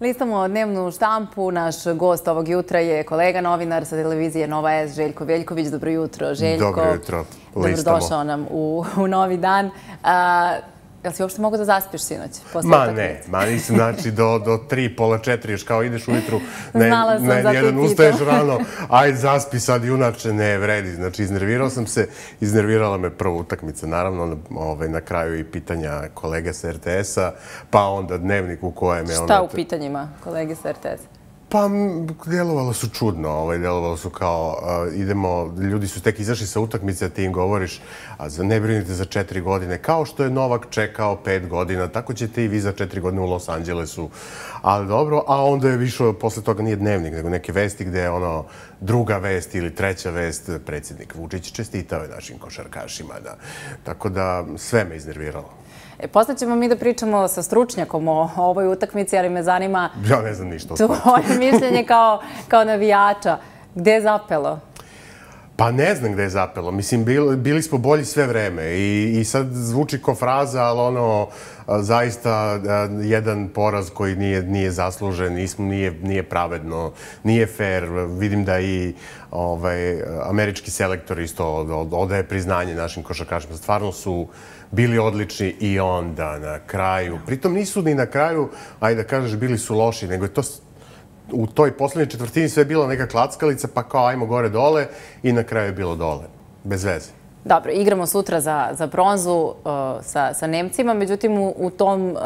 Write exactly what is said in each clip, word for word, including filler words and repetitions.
Listamo dnevnu štampu. Naš gost ovog jutra je kolega novinar sa televizije Nova S, Željko Veljković. Dobro jutro, Željko. Dobro jutro. Dobrodošao nam u, u novi dan. A, jel si uopšte mogu da zaspiš sinoć? Ma ne, ma nisam, znači do, do tri, pola četiri, još kao ideš ujutru, ne, ne, jedan ustaješ rano, ajde zaspi sad, junače ne vredi. Znači iznervirao sam se, iznervirala me prva utakmica, naravno ovaj, na kraju i pitanja kolege sa R T S-a, pa onda dnevnik u kojem je... Šta u pitanjima kolege sa R T S-a? Pa, djelovalo su čudno, ovaj, djelovalo su kao, uh, idemo, ljudi su tek izašli sa utakmice, a ti im govoriš, a za, ne brinite za četiri godine, kao što je Novak čekao pet godina, tako ćete i vi za četiri godine u Los Angelesu, ali dobro, a onda je više, posle toga nije dnevnik, nego neke vesti gde je ono, druga vest ili treća vest, predsjednik Vučić čestitao je našim košarkašima, da. Tako da sve me iznerviralo. E, posle ćemo mi da pričamo sa stručnjakom o ovoj utakmici, ali me zanima... Ja ne znam ništa o sportu. Tvoje mišljenje kao, kao navijača. Gde je zapelo? Pa ne znam gde je zapelo. Mislim, bili, bili smo bolji sve vreme i, i sad zvuči ko fraza, ali ono, zaista jedan poraz koji nije, nije zaslužen, nismo, nije, nije pravedno, nije fair. Vidim da i ovaj, američki selektor isto odaje priznanje našim košarkašima. Stvarno su bili odlični i onda na kraju. Pritom nisu ni na kraju, ajde da kažeš, bili su loši, nego je to u toj poslednjoj četvrtini sve je bila neka klackalica, pa kao ajmo gore dole i na kraju je bilo dole. Bez veze. Dobro, igramo sutra za, za bronzu uh, sa, sa Nemcima, međutim u, u tom uh,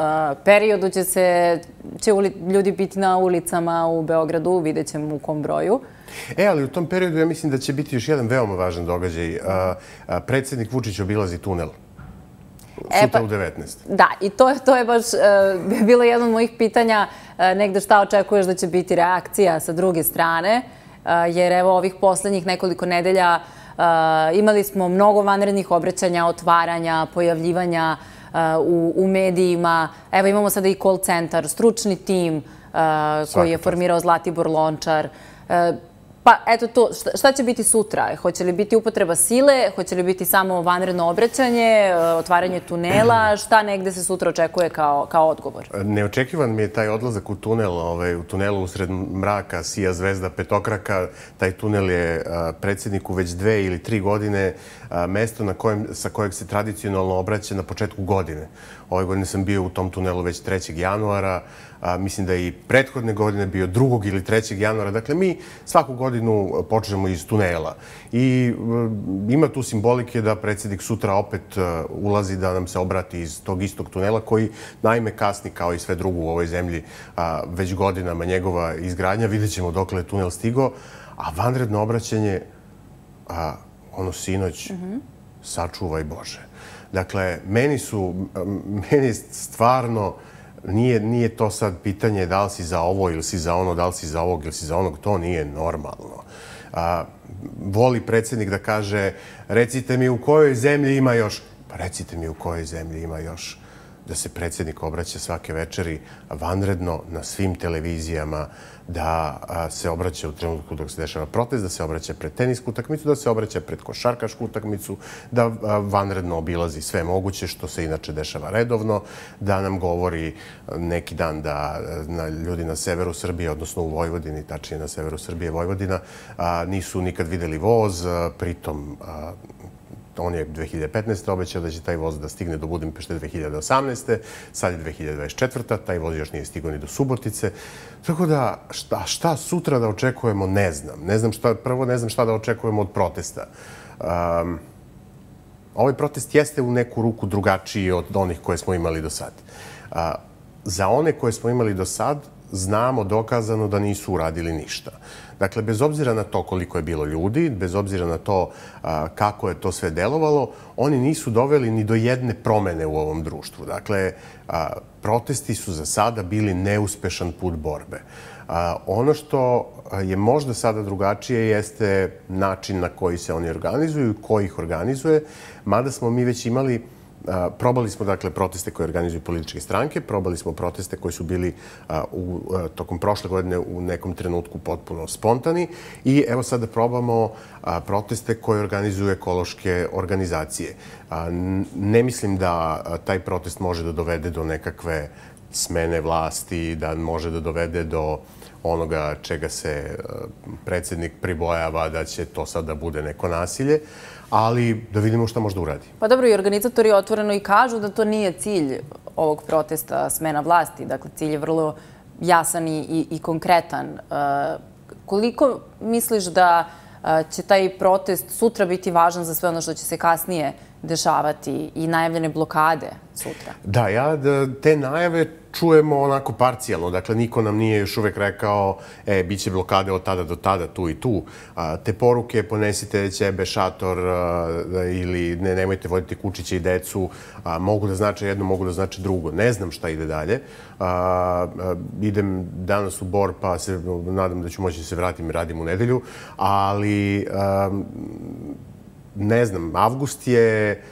periodu će, se, će uli, ljudi biti na ulicama u Beogradu, vidjet ćemo u kom broju. E, ali u tom periodu ja mislim da će biti još jedan veoma važan događaj. Uh, uh, predsjednik Vučić obilazi tunel. Sutra e, pa, u devetnaest. Da, i to, to je baš uh, bilo jedno od mojih pitanja, uh, negde šta očekuješ da će biti reakcija sa druge strane, uh, jer evo ovih poslednjih nekoliko nedelja uh, imali smo mnogo vanrednih obraćanja, otvaranja, pojavljivanja uh, u, u medijima. Evo imamo sada i call centar, stručni tim uh, koji je formirao Zlatibor Lončar. Uh, Pa eto to, šta će biti sutra? Hoće li biti upotreba sile? Hoće li biti samo vanredno obraćanje, otvaranje tunela? Šta negde se sutra očekuje kao, kao odgovor? Neočekivan mi je taj odlazak u tunel. Ovaj, u tunelu usred mraka sija zvezda petokraka. Taj tunel je a, predsjedniku već dve ili tri godine a, mesto na kojem, sa kojeg se tradicionalno obraća na početku godine. Ove godine sam bio u tom tunelu već trećeg januara. A, mislim da je i prethodne godine bio drugog ili trećeg januara. Dakle, mi svaku godinu počnemo iz tunela. I uh, ima tu simbolike da predsjednik sutra opet uh, ulazi da nam se obrati iz tog istog tunela, koji naime kasni kao i sve drugo u ovoj zemlji uh, već godinama njegova izgradnja. Vidjet ćemo dokle je tunel stigo. A vanredno obraćanje, uh, ono sinoć, mm-hmm. sačuvaj Bože. Dakle, meni su, meni stvarno, Nije, nije to sad pitanje da li si za ovo ili si za ono, da li si za ovog ili si za onog, to nije normalno. A, voli predsjednik da kaže, recite mi u kojoj zemlji ima još, pa recite mi u kojoj zemlji ima još da se predsjednik obraća svake večeri vanredno na svim televizijama, da se obraća u trenutku dok se dešava protest, da se obraća pred tenisku utakmicu, da se obraća pred košarkašku utakmicu, da vanredno obilazi sve moguće, što se inače dešava redovno, da nam govori neki dan da na ljudi na severu Srbije, odnosno u Vojvodini, tačnije na severu Srbije, Vojvodina, nisu nikad videli voz, pritom on je dve hiljade petnaeste. obećao da će taj voz da stigne do Budimpešte dve hiljade osamnaeste. Sad je dve hiljade dvadeset četvrta. Taj voz još nije stigao ni do Subotice. Tako da, šta, šta sutra da očekujemo, ne znam. Ne znam šta, prvo ne znam šta da očekujemo od protesta. Um, ovaj protest jeste u neku ruku drugačiji od onih koje smo imali do sad. Uh, za one koje smo imali do sad, znamo dokazano da nisu uradili ništa. Dakle, bez obzira na to koliko je bilo ljudi, bez obzira na to a, kako je to sve delovalo, oni nisu doveli ni do jedne promene u ovom društvu. Dakle, a, protesti su za sada bili neuspešan put borbe. A, ono što je možda sada drugačije jeste način na koji se oni organizuju i ko ih organizuje, mada smo mi već imali Probali smo, dakle, proteste koje organizuju političke stranke, probali smo proteste koji su bili u, tokom prošle godine u nekom trenutku potpuno spontani i evo sada probamo proteste koje organizuju ekološke organizacije. Ne mislim da taj protest može da dovede do nekakve smene vlasti, da može da dovede do onoga čega se predsjednik pribojava, da će to sad da bude neko nasilje, ali da vidimo šta može da uradi. Pa dobro, i organizatori otvoreno i kažu da to nije cilj ovog protesta smena vlasti. Dakle, cilj je vrlo jasan i, i konkretan. Koliko misliš da će taj protest sutra biti važan za sve ono što će se kasnije dešavati i najavljene blokade sutra? Da, ja te najave čujemo onako parcijalno. Dakle, niko nam nije još uvek rekao e, bit će blokade od tada do tada, tu i tu. Te poruke ponesite ćebe, šator ili ne, nemojte voditi kučiće i decu, mogu da znače jedno, mogu da znače drugo. Ne znam šta ide dalje. Idem danas u Bor, pa se nadam da ću moći da se vratim i radim u nedelju, ali ne znam, avgust je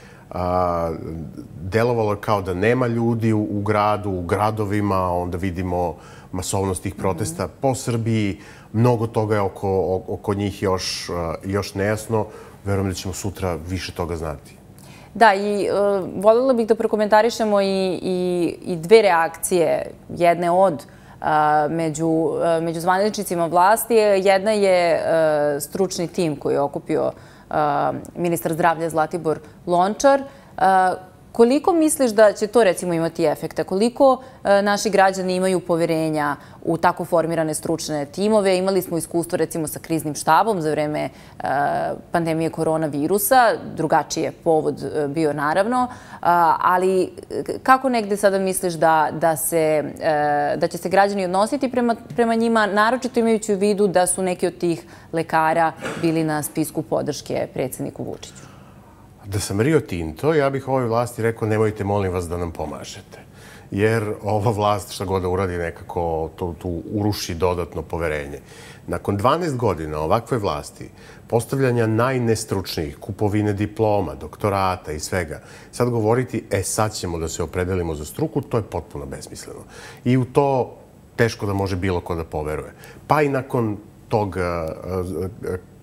delovalo kao da nema ljudi u gradu, u gradovima, onda vidimo masovnost tih protesta po Srbiji. Mnogo toga je oko, oko njih još, još nejasno. Verujem da ćemo sutra više toga znati. Da, i uh, voljela bih da prokomentarišemo i, i, i dve reakcije. Jedne od uh, među, uh, među zvaničnicima vlasti. Jedna je uh, stručni tim koji je okupio ministar zdravlja Zlatibor Lončar. Koliko misliš da će to recimo imati efekta? Koliko naši građani imaju poverenja u tako formirane stručne timove? Imali smo iskustvo recimo sa kriznim štabom za vreme pandemije koronavirusa. Drugačiji je povod bio naravno. Ali kako negde sada misliš da, da, se, da će se građani odnositi prema, prema njima, naročito imajući u vidu da su neki od tih lekara bili na spisku podrške predsjedniku Vučiću? Da sam Rio Tinto, ja bih ovoj vlasti rekao nemojte, molim vas, da nam pomažete. Jer ova vlast šta god da uradi nekako to, tu uruši dodatno poverenje. Nakon dvanaest godina ovakve vlasti, postavljanja najnestručnijih, kupovine diploma, doktorata i svega, sad govoriti, e sad ćemo da se opredelimo za struku, to je potpuno besmisleno. I u to teško da može bilo ko da poveruje. Pa i nakon tog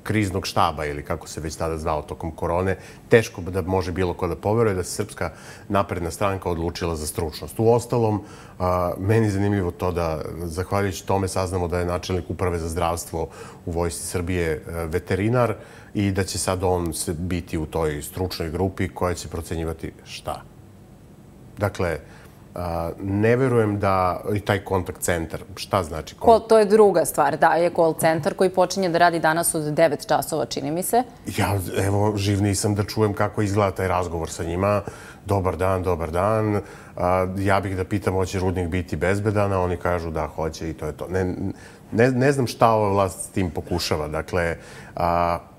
kriznog štaba ili kako se već tada zvao tokom korone, teško da može bilo ko da poveruje da se Srpska napredna stranka odlučila za stručnost. U ostalom, meni je zanimljivo to da, zahvaljujući tome, saznamo da je načelnik uprave za zdravstvo u Vojsci Srbije veterinar i da će sad on biti u toj stručnoj grupi koja će procenjivati šta. Dakle, ne verujem da i taj kontakt centar, šta znači? To je druga stvar, da, je call centar koji počinje da radi danas od devet časova, čini mi se. Ja, evo, živ nisam da čujem kako izgleda taj razgovor sa njima. Dobar dan, dobar dan. Ja bih da pitam, hoće rudnik biti bezbedan, a oni kažu da hoće i to je to. Ne, ne, ne znam šta ova vlast s tim pokušava. Dakle,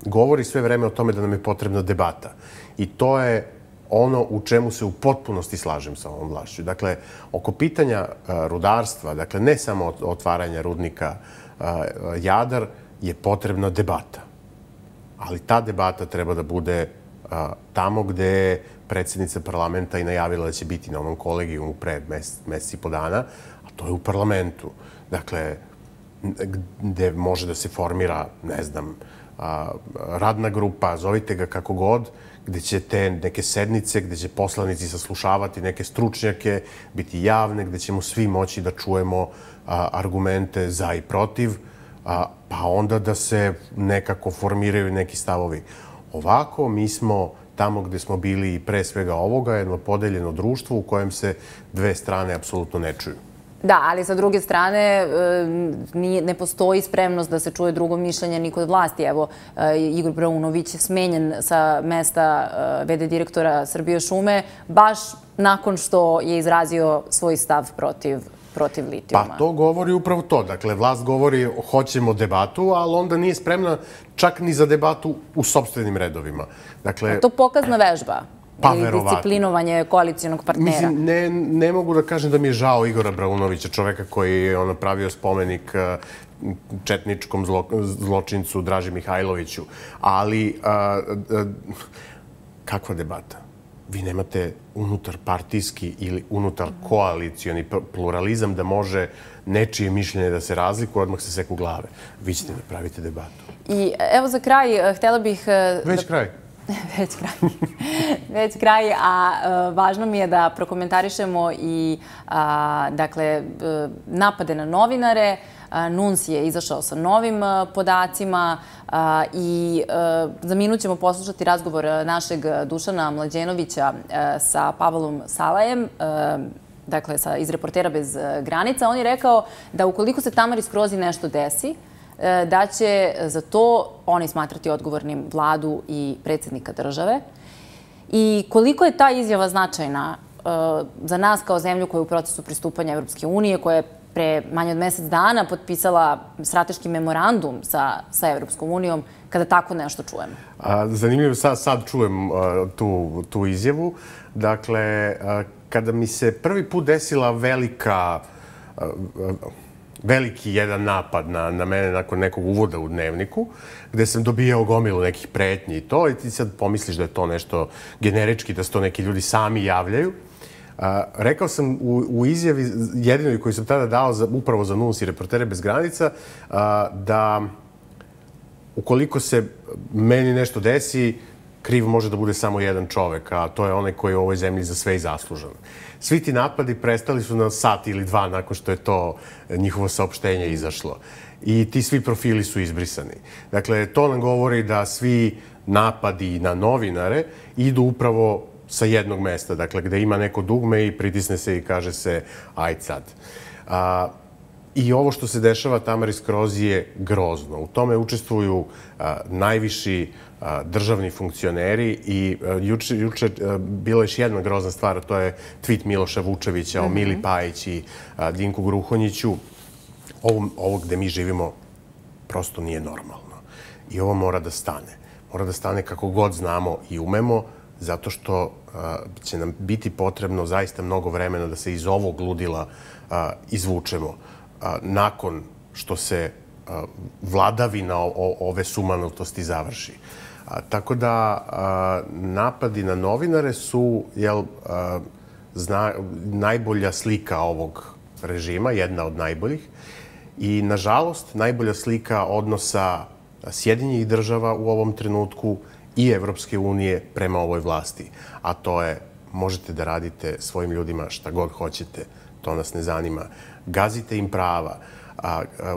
govori sve vreme o tome da nam je potrebna debata. I to je ono u čemu se u potpunosti slažem sa ovom vlašću. Dakle, oko pitanja rudarstva, dakle, ne samo otvaranja rudnika Jadar, je potrebna debata. Ali ta debata treba da bude tamo gde je predsjednica parlamenta i najavila da će biti na onom kolegijumu pre mesec i po dana, a to je u parlamentu. Dakle, gde može da se formira, ne znam, radna grupa, zovite ga kako god, gde će te neke sednice, gde će poslanici saslušavati neke stručnjake, biti javne, gde ćemo svi moći da čujemo argumente za i protiv, pa onda da se nekako formiraju neki stavovi. Ovako, mi smo tamo gde smo bili i pre svega ovoga, jedno podeljeno društvo u kojem se dve strane apsolutno ne čuju. Da, ali sa druge strane ne postoji spremnost da se čuje drugo mišljenje ni kod vlasti. Evo, Igor Braunović je smenjen sa mesta ve de direktora Srbije šume baš nakon što je izrazio svoj stav protiv protiv litijuma. Pa to govori upravo to. Dakle, vlast govori hoćemo debatu, ali onda nije spremna čak ni za debatu u sopstvenim redovima. Dakle, to pokazna vežba. Pa, ili disciplinovanje koalicijonog partnera. Mislim, ne, ne mogu da kažem da mi je žao Igora Braunovića, čoveka koji je ono pravio spomenik četničkom zlo, zločincu Draži Mihajloviću. Ali, a, a, kakva debata? Vi nemate unutar partijski ili unutar koalicioni pluralizam da može nečije mišljenje da se razlikuje, odmah se seku glave. Vi ćete da pravite debatu. I evo za kraj, htjela bih... Već kraj. Već kraj. Već kraj, a važno mi je da prokomentarišemo i dakle, napade na novinare. Nuns je izašao sa novim podacima i za minut ćemo poslušati razgovor našeg Dušana Mlađenovića sa Pavlom Salajem, dakle iz Reportera bez granica. On je rekao da ukoliko se Tamari Skrozi nešto desi, da će za to oni smatrati odgovornim vladu i predsjednika države. I koliko je ta izjava značajna za nas kao zemlju koja je u procesu pristupanja Evropske unije, koja je pre manje od mesec dana potpisala strateški memorandum sa Evropskom unijom, kada tako nešto čujemo? Zanimljivo, sad čujem tu izjavu. Dakle, kada mi se prvi put desila velika, veliki jedan napad na mene nakon nekog uvoda u Dnevniku, gde sam dobijao gomilu nekih pretnji i to, i ti sad pomisliš da je to nešto generički, da se to neki ljudi sami javljaju. Rekao sam u izjavi, jedinoj koju sam tada dao upravo za Nuns i Reportere bez granica, da ukoliko se meni nešto desi, kriv može da bude samo jedan čovek, a to je onaj koji je u ovoj zemlji za sve i zaslužan. Svi ti napadi prestali su na sat ili dva nakon što je to njihovo saopštenje izašlo. I ti svi profili su izbrisani. Dakle, to nam govori da svi napadi na novinare idu upravo sa jednog mesta, dakle, gde ima neko dugme i pritisne se i kaže se ajde sad. I ovo što se dešava Tamari Skrozi je grozno. U tome učestvuju najviši državni funkcioneri i juče bila još jedna grozna stvar, a to je tweet Miloša Vučevića o Mili Pajić i Dinku Gruhonjiću. Ovo gde mi živimo prosto nije normalno. I ovo mora da stane. Mora da stane kako god znamo i umemo, zato što će nam biti potrebno zaista mnogo vremena da se iz ovog ludila izvučemo nakon što se vladavina ove sumanutosti završi. Tako da napadi na novinare su najbolja slika ovog režima, jedna od najboljih. I, nažalost, najbolja slika odnosa Sjedinjenih država u ovom trenutku i Evropske unije prema ovoj vlasti. A to je, možete da radite svojim ljudima šta god hoćete, to nas ne zanima. Gazite im prava,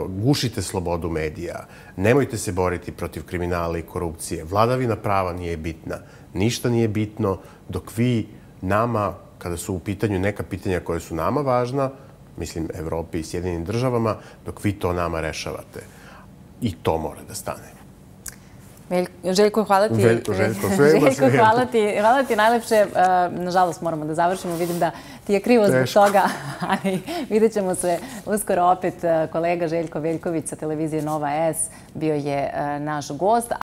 gušite slobodu medija, nemojte se boriti protiv kriminala i korupcije. Vladavina prava nije bitna. Ništa nije bitno dok vi nama, kada su u pitanju neka pitanja koja su nama važna, mislim Evropi i Sjedinjenim državama, dok vi to nama rešavate. I to mora da stane. Željko, hvala ti. Veljko, Željko, Željko, hvala ti. Hvala ti najlepše. Nažalost, moramo da završimo. Vidim da ti je krivo zbog toga, ali vidjet ćemo se uskoro opet. Kolega Željko Veljković sa televizije Nova S bio je naš gost.